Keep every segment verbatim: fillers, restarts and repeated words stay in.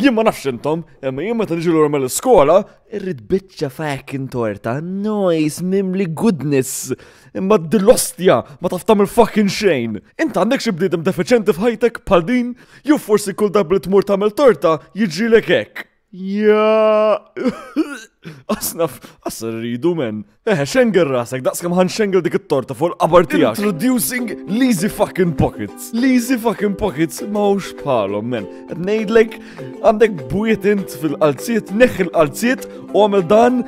Jien ma nafx intom, imma jien meta niġi lura mill-iskola, irrid biċċa fucking torta, nice, mimli goodness. Imma dil-ostja ma taf tagħmel fucking xejn. Int għandek xi bniedem defiċenti f'ħajtek bħal din? Jew forsi kull darba li tmur tagħmel torta jiġrilek hekk. Ja. Asnaf, asna rridu men. Eħe, xengel rasek, daqs kemm ħa nxengel dik it-torta fuq il-qabar tiegħek. Introducing l-Easy fucking Pockets. L-Easy fucking Pockets m'hawnx bħalhom, men. Qed ngħidlek għandek bwiet int fil-qalziet, neħħi l-qalziet u għamel dan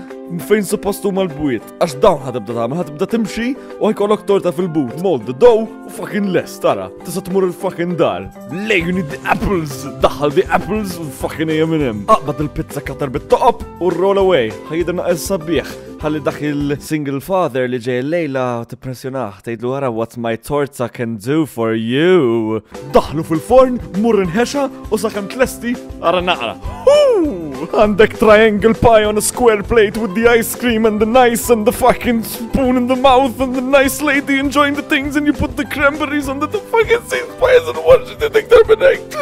fejn suppost huma l-bwiet. Għax dawn ħa tibda tagħmel, ħa tibda timxi u ħa jkollok torta fil-but. Mold the dough u fucking lest, tara. Tista' tmur il-fucking dar. Le, you need the apples. Daħħal the apples u fucking ejja minn hemm. Aqbad il-pizza cutter bit-toqob u roll away. Ħa jidher naqra sabiħ. Ħalli dak il-single father li ġej lejla tippressjonah, tgħidlu ara what my torta can do for you. Daħlu fil-forn, mur inħexa u sakemm tlesti ara naqra. Huu! Għandek triangle pie on a square plate with the ice cream and the nice and the fucking spoon in the mouth and the nice lady enjoying the things and you put the cranberries under the fucking same pies and watch it iktar minn hekk.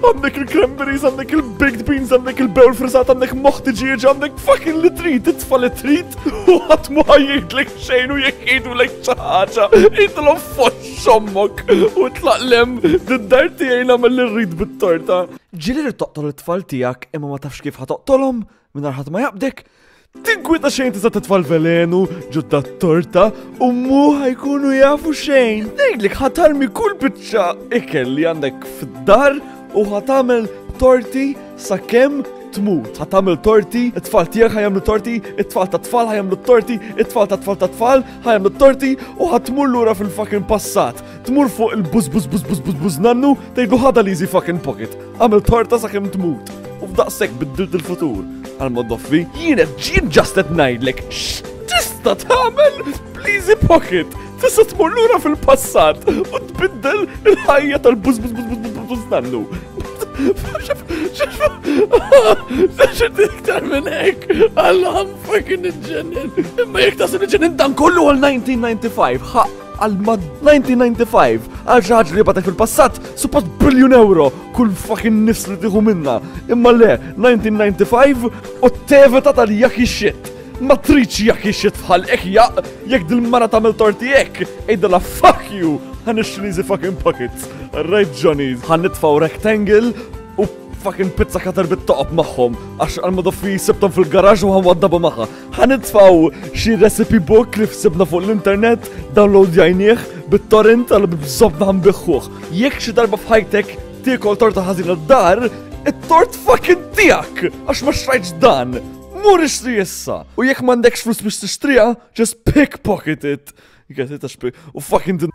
Għandek il-cranberries, għandek il-baked beans, għandek il-bewl friżat, għandek moħ tiġieġ, għandek fucking li trid, titfa li trid u ħadd mu ħa jgħidlek xejn u jekk jgħidulek xi ħaġa, għidilhom fox ommok u tlaq 'l hemm d-dar tiegħi nagħmel li rrid bit-torta. Ġieli li toqtol it-tfal tiegħek imma ma tafx kif ħa toqtolhom mingħajr ħadd ma jaqbdek? Tinkwieta xejn tista' titfa' l-velenu ġo torta u mu ħa jkunu jafu xejn. Ngħidlek ħa tarmi kull biċċa ikel li għandek fid-dar u ħa tagħmel torti sakemm tmut. Ħa tagħmel torti, it-tfal tiegħek ħa jagħmlu torti, it-tfal ta' tfal ħa jagħmlu torti, it-tfal ta' tfal ta' tfal ħa jagħmlu torti u ħa tmur lura fil-fucking passat. Tmur fuq il-buz buz buz buz buz buz nannu tgħidlu ħa da l-easy fucking pocket. Għamel torta sakemm tmut. U f'daqshekk biddilt il-futur. Għal-modoffi, jiena ġien just qed ngħidlek x'tista' tagħmel bl-easy pocket. Tista' tmur lura fil-passat u tbiddel il-ħajja tal-buz buz buz buz buz buz nannu. X'trid iktar minn hekk, Alla I'm fucking iġġennen. Imma jekk tasal iġġennen dan kollu għal elf disa' mija u disgħa u disgħin, ħa għal ma elf disa' mija u disgħa u disgħin, għal xi ħaġa li batek fil-passat, suppost biljun euro kull fucking nifs li tieħu minna. Imma le, elf disa' mija u disgħa u disgħin u tevita tal-yucky shit. Ma tridx yucky shit f'ħalqek jaq, jekk dil-mara tagħmel torti hekk, għidilha fuck you, ħa nixtri easy fucking pockets. Right Johnny's, ħa nitfgħu rectangle u fucking pizza cutter bit-toqob magħhom, għax għal-madoffi sibtom fil-garaġ u ħa nwaddabha magħha. Ħa nitfgħu xi recipe book li sibna fuq l-internet, download jajnieh bit-torrent għal bżobna ħa nbigħuh. Jekk xi darba f'ħajtek tiekol torta ħażina d-dar, it-tort fucking tiegħek, għax ma xtrajtx dan. Mur ixtri issa. U jekk m'għandekx flus biex tixtriha, just pickpocket it. You get it, għax pick. U fucking din.